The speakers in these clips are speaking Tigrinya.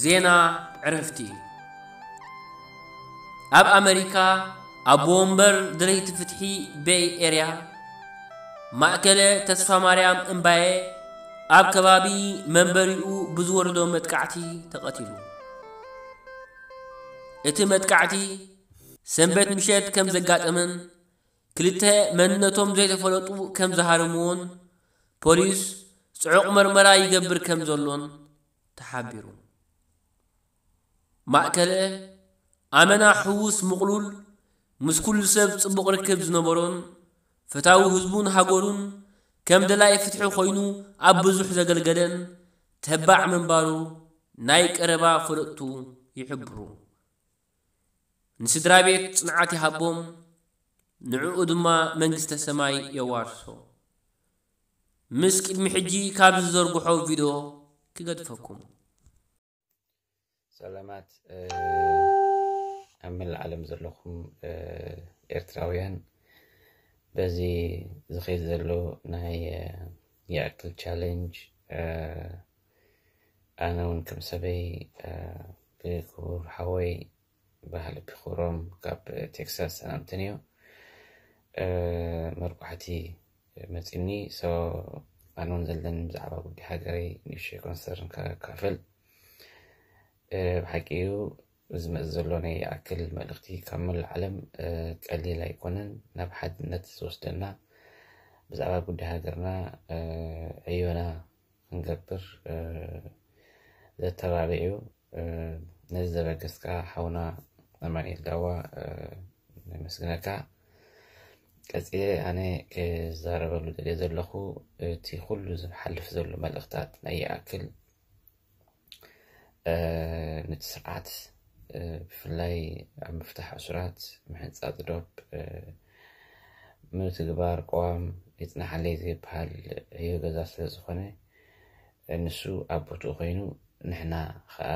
ዜና ዕረፍቲ። ኣብ ኣመሪካ ኣቦ ወንበር ደለይቲ ፍትሒ ቤይ ኤርያ ማእከለ ተስፋ ማርያም እምባየ ኣብ ከባቢ መንበሪኡ ብዝወረዶ መጥቃዕቲ ተቐቲሉ። እቲ መጥቃዕቲ ሰንበት ምሸት ከም ዘጋጠመን ክልተ መንነቶም ዘይተፈለጡ ከም ዝሃረምዎን ፖሊስ ጽዑቕ መርመራ ይገብር ከም ዘሎን ተሓቢሩ። ማእከለ ኣመና ሕዉስ ምቕሉል ምስ ኩሉ ሰብ ጽቡቕ ርክብ ዝነበሮን ፈታዊ ህዝቡን ሃገሩን ከም ደላይ ፍትሒ ኮይኑ ኣብ ብዙሕ ዘገልገለን ተባዕ ምንባሩ ናይ ቀረባ ፈለጥቱ ይሕብሩ። ንስድራ ቤት ጽንዓት ይሃቦም፣ ንዕኡ ድማ መንግስተ ሰማይ የዋርሶ። ምስ ቅድሚ ሕጂ ካብ ዝዘርግሖ ቪድዮ ክገድፈኩም። ሰላማት ኣብ መላእ ዓለም ዘለኹም ኤርትራውያን፣ በዚ ዝኸይድ ዘሎ ናይ ይኣክል ቻለንጅ፣ ኣነ እውን ከም ሰበይ ብክቡር ሓወይ ባህሊ ቢክሮም ካብ ቴክሳስ ሰላምትን እዩ። መርቋሕቲ መፂኒ። ኣነ እውን ዘለኒ ብዛዕባ ጉዳይ ሃገረይ ንእሽተይ ኮንሰርን ከካፍል። ብሓቂ እዩ፣ ዝመፅ ዘሎ ናይ ይኣክል መልእኽቲ ካብ መላእ ዓለም ቀሊል ኣይኮነን። ናብ ሓድነት ዝወስደና፣ ብዛዕባ ጉዳይ ሃገርና ዕዮና ክንገብር ዘተባብዕ እዩ። ነዚ ዘበገስካ ሓውና ኣማኒኤል ዳዋ ነመስግነካ። ቀፂለ ኣነ ክዛረበሉ ደልየ ዘለኹ፣ እቲ ኩሉ ዝሓልፍ ዘሎ መልእኽታት ናይ ይኣክል ነቲ ስርዓት ብፍላይ ኣብ ምፍታሕ እሱራት፣ ምሕንፃፅ ዶብ፣ ምትግባር ቅዋም ይፅናሓለይ ዘይበሃል ዕዮ ገዛ ስለ ዝኾነ፣ ንሱ ኣብ ቦትኡ ኮይኑ፣ ንሕና ኸዓ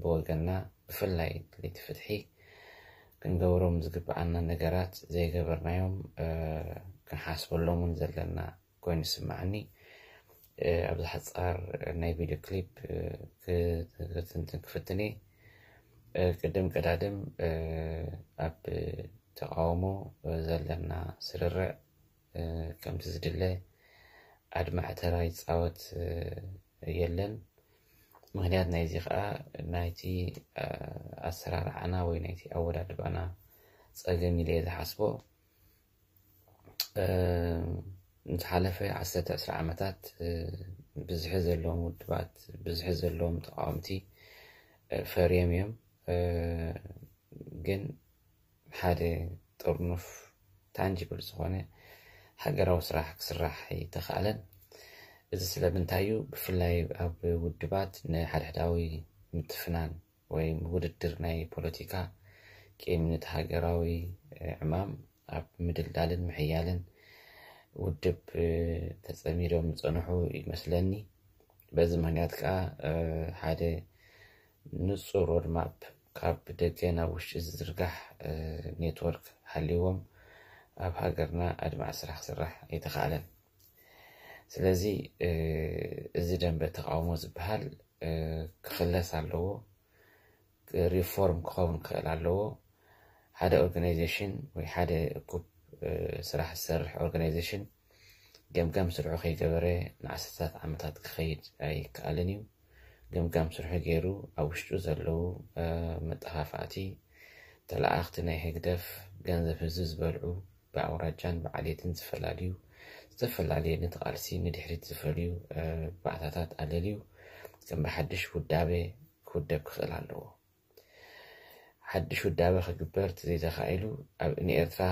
ብወገንና ብፍላይ ለይቲ ፍትሒ ክንገብሮም ዝግብኣና ነገራት ዘይገበርናዮም ክንሓስበሎም እውን ዘለና ኮይኑ ይስምዓኒ። ኣብዚ ሓፃር ናይ ቪድዮ ክሊፕ ክትንትን ክፍትን እየ። ቅድም ቀዳድም ኣብ ተቃውሞ ዘለና ስርርዕ ከምቲ ዝድለ ኣድማዒ ተራ ይፃወት የለን። ምክንያት ናይዚ ከዓ ናይቲ ኣሰራርዓና ወይ ናይቲ ኣወዳድባና ፀገም ኢለ እየ ዝሓስቦ። ዝሓለፈ ዓሰርተ ዕስራ ዓመታት ብዝሒ ዘለዎም ውድባት፣ ብዝሒ ዘለዎም ተቃወምቲ ፈርዮም እዮም። ግን ሓደ ጥርኑፍ ታንጂብል ዝኾነ ሃገራዊ ስራሕ ክስራሕ ኣይተኻእለን። እዚ ስለምንታይ እዩ? ብፍላይ ኣብ ውድባት ንሓድሕዳዊ ምትፍናን ወይ ውድድር ናይ ፖለቲካ ቂም፣ ነቲ ሃገራዊ ዕማም ኣብ ምድልዳልን ምሕያልን ውድብ ተፀሚዶም ዝፀንሑ ይመስለኒ። በዚ ምክንያት ከዓ ሓደ ንፁር ሮድማፕ ካብ ደገ ናብ ውሽጢ ዝዝርጋሕ ኔትወርክ ሃልይዎም ኣብ ሃገርና ኣድማዒ ስራሕ ክስራሕ ኣይተኻእለን። ስለዚ እዚ ደንበ ተቃውሞ ዝበሃል ክኽለስ ኣለዎ፣ ሪፎርም ክኸውን ክኽእል ኣለዎ። ሓደ ኦርጋናይዜሽን ወይ ሓደ እኩብ ስራሕ ዝሰርሕ ኦርጋናይዜሽን ገምጋም ስርሑ ከይገበረ ንዓሰርታት ዓመታት ክኸይድ ኣይከኣልን እዩ። ገምጋም ስርሑ ገይሩ ኣብ ውሽጡ ዘለዉ መጠፋፋእቲ፣ ተለኣኽቲ ናይ ህግደፍ፣ ገንዘብ ህዝቢ ዝበልዑ፣ ብኣውራጃን ብዓሌትን ዝፈላለዩ፣ ዝተፈላለየ ነቲ ቃልሲ ንድሕሪት ዝፈልዩ ባእታታት ኣለልዩ ከም ብሓድሽ ውዳበ ክውደብ ክኽእል ኣለዎ። ሓድሽ ውዳበ ክግበር ተዘይተኻኢሉ ኣብ ንኤርትራ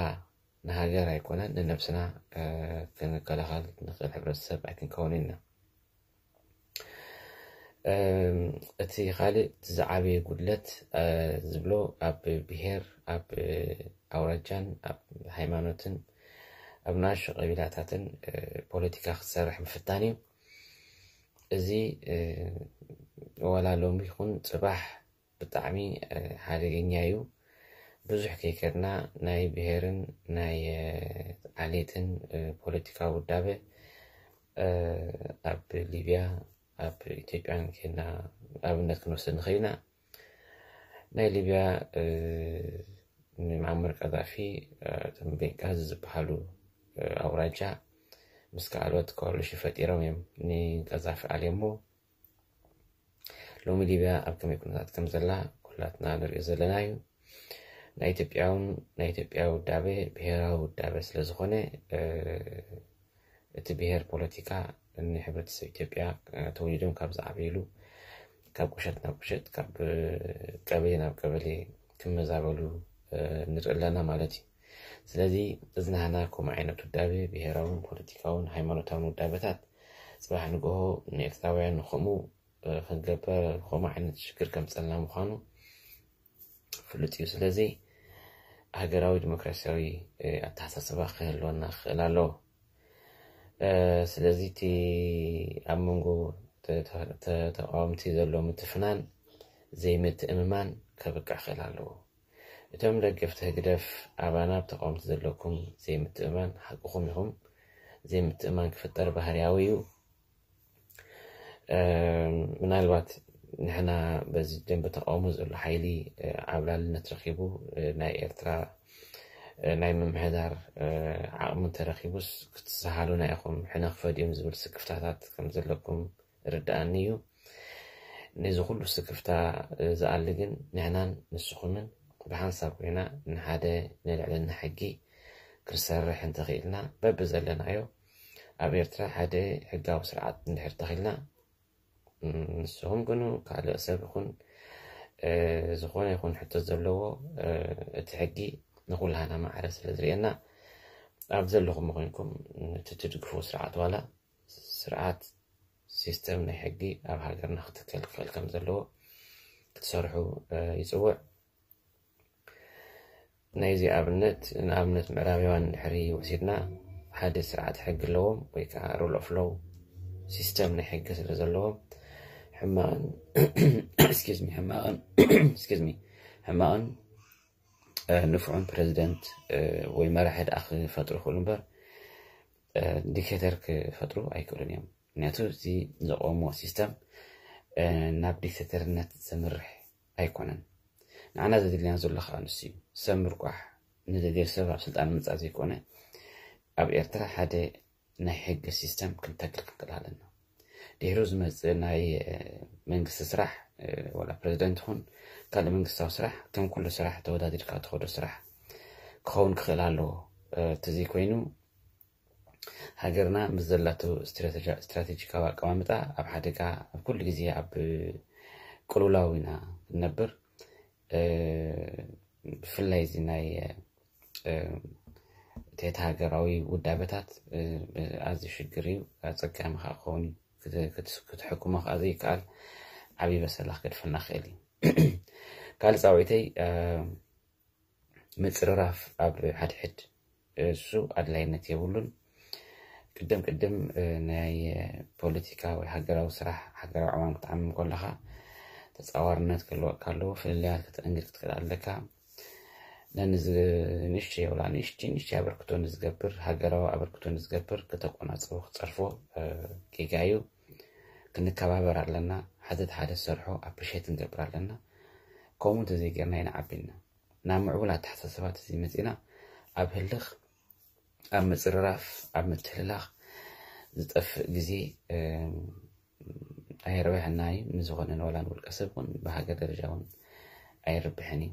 ንሃገር ኣይኮነን ንነብስና ክንከላኸል ንኽእል ሕብረተሰብ ኣይክንከውን ኢና። እቲ ካልእ ዝዓበየ ጉድለት ዝብሎ ኣብ ብሄር፣ ኣብ ኣውራጃን ኣብ ሃይማኖትን ኣብ ናሹ ቀቢላታትን ፖለቲካ ክትሰርሕ ምፍታን እዩ። እዚ ወላ ሎሚ ይኹን ፅባሕ ብጣዕሚ ሓደገኛ እዩ። ብዙሕ ከይከድና ናይ ብሄርን ናይ ዓሌትን ፖለቲካዊ ውዳበ ኣብ ሊብያ፣ ኣብ ኢትዮጵያን ኬንያ ኣብነት ክንወስድ ንኽእል ኢና። ናይ ሊብያ ንማዕመር ቀዛፊ እቶም ቤንቃዚ ዝበሃሉ ኣውራጃ ምስ ካልኦት ኮሊሽን ፈጢሮም እዮም ንቀዛፊ ኣልዮሞ። ሎሚ ሊብያ ኣብ ከመይ ኩነታት ከም ዘላ ኩላትና ንሪኦ ዘለና እዩ። ናይ ኢትዮጵያ እውን ናይ ኢትዮጵያ ውዳበ ብሄራዊ ውዳበ ስለ ዝኾነ እቲ ብሄር ፖለቲካ ንሕብረተሰብ ኢትዮጵያ ተወሊዶም ካብ ዝዓበይሉ ካብ ቁሸት ናብ ቁሸት ካብ ቀበሌ ናብ ቀበሌ ክመዛበሉ ንርኢ ኣለና ማለት እዩ። ስለዚ እዚ ናህና ከምኡ ዓይነት ውዳበ ብሄራውን ፖለቲካውን ሃይማኖታውን ውዳበታት ፅባሕ ንግሆ ንኤርትራውያን ንከምኡ ክንገበር ከምኡ ዓይነት ሽግር ከምፀልና ምዃኑ ፍሉጥ እዩ። ስለዚ ሃገራዊ ዲሞክራሲያዊ ኣተሓሳስባ ክህልወና ክኽእል ኣለዎ። ስለዚ እቲ ኣብ መንጎ ተቃወምቲ ዘሎ ምትፍናን ዘይምትእምማን ከብቅዕ ክኽእል ኣለዎ። እቶም ደገፍቲ ህግደፍ ኣባና ብተቃወምቲ ዘለኩም ዘይምትእማን ሓቅኹም ኢኹም። ዘይምትእማን ክፍጠር ባህርያዊ እዩ። ምናልባት ንሕና በዚ ደንበ ተቃውሞ ዘሎ ሓይሊ ዓብላልነት ረኪቡ ናይ ኤርትራ ናይ ምምሕዳር ዓቕሚ እንተረኪቡስ ክትሰሃሉና ኢኹም፣ ሕነ ክፈድዮም ዝብል ስክፍታታት ከም ዘለኩም ርድኣኒ እዩ። ነዚ ኩሉ ስክፍታ ዝኣሊ ግን ንሕናን ንስኹምን ብሓንሳብ ኮይና ንሓደ ንልዕልና ሕጊ ክንሰርሕ እንተኽኢልና በብዘለናዮ ኣብ ኤርትራ ሓደ ሕጋዊ ስርዓት እንድሕር ተኺልና ንስኹም ግኑ ካልእ ሰብ ይኹን ዝኾነ ይኹን ሕቶ ዘለዎ እቲ ሕጊ ንኩላህና ማዕረ ስለ ዝርእየና ኣብ ዘለኹም ኮይንኩም እቲ ትድግፉ ስርዓት ዋላ ስርዓት ሲስተም ናይ ሕጊ ኣብ ሃገርና ክትከል ክኽእል ከም ዘለዎ ክትሰርሑ ይፅውዕ። ናይዚ ኣብነት ንኣብነት ምዕራባውያን ድሕሪ ወሲድና ሓደ ስርዓት ሕጊ ኣለዎም ወይ ከዓ rule of law system ናይ ሕጊ ስለ ዘለዎም ሕማቕን excuse me ሕማቕን excuse me ሕማቕን ንፉዕን ፕረዚደንት ወይ መራሒ ደኣ ክፈጥሩ ይኽእሉ እምበር ዲክቴተር ክፈጥሩ ኣይክእሉን እዮም። ምክንያቱ እዚ ዘቆምዎ ሲስተም ናብ ዲክቴተርነት ዘምርሕ ኣይኮነን። ንዓና ዘድልየና ዘሎ ከዓ ንሱ እዩ። ሰብ ምርቋሕ ንደልዮ ሰብ ኣብ ስልጣን ምምፃእ ዘይኮነ ኣብ ኤርትራ ሓደ ናይ ሕጊ ሲስተም ክንተክል ክንክእል ኣለና። ድሕሩ ዝመፅእ ናይ መንግስቲ ስራሕ ወላ ፕረዚደንት ይኹን ካልእ መንግስታዊ ስራሕ ከም ኩሉ ስራሕ ተወዳዲርካ ትኸዶ ስራሕ ክኸውን ክኽእል ኣለዎ። እቲ ዘይኮይኑ ሃገርና ምስ ዘላቶ ስትራቴጂካዊ ኣቀማምጣ ኣብ ሓደጋ ኣብ ኩሉ ግዜ ኣብ ቅልውላው ኢና ንነብር። ብፍላይ እዚ ናይ ትሕቲ ሃገራዊ ውዳበታት ኣዝዩ ሽግር እዩ። ኣፀጋሚ ከዓ ክኸውን እዩ። ክትሕክሞ ከዓ ዘይከኣል ዓብዪ በሰላ ክገድፈና ክእል እዩ። ካልእ ፃውዒተይ ምፅርራፍ ኣብ ሓድሕድ እሱ ኣድላይነት የብሉን። ቅድም ቅድም ናይ ፖለቲካ ወይ ሃገራዊ ስራሕ ሃገራዊ ዕማም ክትዓምም ከለካ ተፃዋርነት ክህልወካ ኣለዎ። ፍልልያት ከተእንግድ ክትክእል ኣለካ። ነንዚ ንእሽተይ ወላ ንእሽተይ ንእሽተይ ኣበርክቶ ንዝገብር ሃገራዊ ኣበርክቶ ንዝገብር ክተቆናፅቦ ክፀርፎ ጌጋ እዩ። ክንከባበር ኣለና። ሓደ ሓደ ዝሰርሖ ኣፕሪሼት ክንገብር ኣለና። ከምኡ እንተዘይገርና ኢና ዓቢልና ናብ ምዕቡል ኣተሓሳስባ ተዘይመፂና ኣብ ህልኽ ኣብ ምፅርራፍ ኣብ ምትህልላኽ ዝጠፍእ ግዜ ኣይረብሐና እዩ። ንዝኾነ ንወላ ንውልቀ ሰብ እውን ብሃገር ደረጃ እውን ኣይርብሕን እዩ።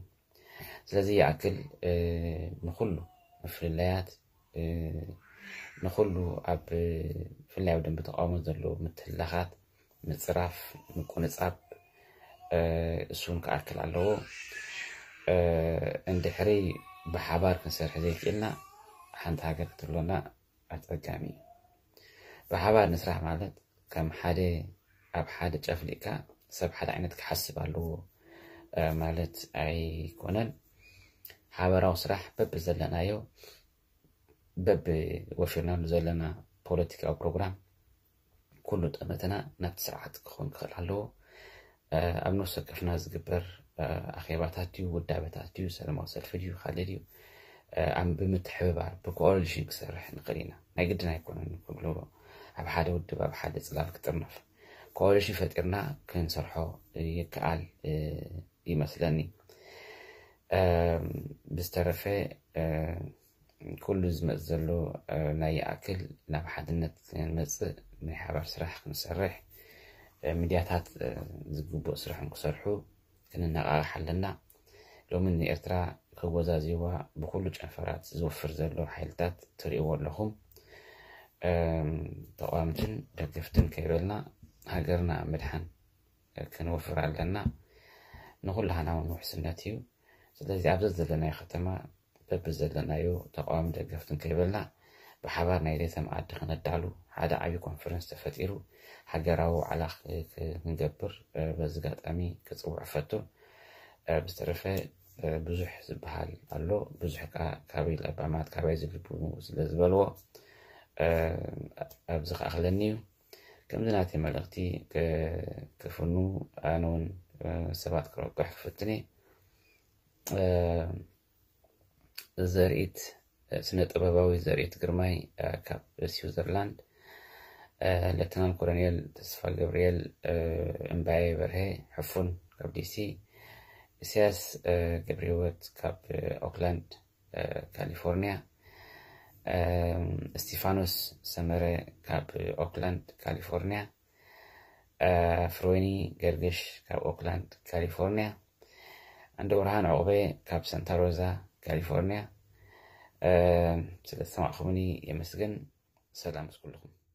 ስለዚ ይኣክል ንኩሉ ምፍልላያት ንኩሉ ኣብ ብፍላይ ኣብ ደንበ ተቃውሞ ዘለዉ ምትህልላኻት ምፅራፍ ምቁንፃብ እሱን ክኣክል ኣለዎ። እንድሕሪ ብሓባር ክንሰርሕ ዘይክእልና ሓንቲ ሃገር ክትህልወና ኣፀጋሚ እዩ። ብሓባር ንስራሕ ማለት ከም ሓደ ኣብ ሓደ ጨፍሊቅካ ሰብ ሓደ ዓይነት ክሓስብ ኣለዎ ማለት ኣይኮነን። ሓበራዊ ስራሕ በብዘለናዮ በብወፊርናሉ ዘለና ፖለቲካዊ ፕሮግራም ኩሉ ጠመተና ናብቲ ስርዓት ክኾን ክኽእል ኣለዎ። ኣብ ነፍሲ ወከፍና ዝግበር ኣኼባታት ድዩ ውዳበታት ድዩ ሰላማዊ ሰልፊ ድዩ ካልእ ድዩ ኣብ ብምትሕብባር ብኮኦሊሽን ክሰርሕ ንኽእል ኢና። ናይ ግድን ኣይኮነን ኩሉ ኣብ ሓደ ውድብ ኣብ ሓደ ፅላል ክጥርነፍ። ኮሊሽን ፈጢርና ክንሰርሖ ይከኣል ይመስለኒ። ብዝተረፈ ኩሉ ዝመፅ ዘሎ ናይ ይኣክል ናብ ሓድነት ክንመፅእ ናይ ሓባር ስራሕ ክንሰርሕ፣ ሚድያታት ዝግቡእ ስራሕን ክሰርሑ ክንነቃቃሕ ኣለና። ሎሚ ንኤርትራ ክወዛዚዋ ብኩሉ ጨንፈራት ዝወፍር ዘሎ ሓይልታት ትርእይዎ ኣለኹም። ተቋምትን ደገፍትን ከይበልና ሃገርና ምድሓን ክንወፍር ኣለና። ንኩላህና እውን ውሕስነት እዩ። ስለዚ ኣብዚ ዘለናዮ ከተማ በብዘለናዮ ተቃዋሚ ደገፍትን ከይበልና ብሓባር ናይ ሌተ መኣዲ ክነዳሉ ሓደ ዓብዪ ኮንፈረንስ ተፈጢሩ ሃገራዊ ዋዕላ ክንገብር በዚ ኣጋጣሚ ክፅውዕ ፈቱ። ብዝተረፈ ብዙሕ ዝበሃል ኣሎ። ብዙሕ ከዓ ካበይ ለባማት ካበይ ዝልቡ ስለ ዝበልዎ ኣብዚ ክኣኽለኒ እዩ። ከምዚ ናተይ መልእኽቲ ክፍኑ ኣነ እውን ሰባት ክረብሕ ክፍትን እየ። ዘርኢት ስነ ጥበባዊ ዘርኢት ግርማይ ካብ ስዊዘርላንድ፣ ሌተናል ኮሎኔል ተስፋ ገብርኤል እምባየ በርሀ ሕፉን ካብ ዲሲ፣ ኢሳያስ ገብረህይወት ካብ ኦክላንድ ካሊፎርኒያ፣ እስቲፋኖስ ሰመረ ካብ ኦክላንድ ካሊፎርኒያ፣ ፍሮይኒ ገርግሽ ካብ ኦክላንድ ካሊፎርኒያ፣ ኣንደ ብርሃን ዕቑበ ካብ ሳንታ ሮዛ ካሊፎርኒያ። ስለ ዝሰማዕኹምኒ የመስግን። ሰላም ምስ ኩልኹም።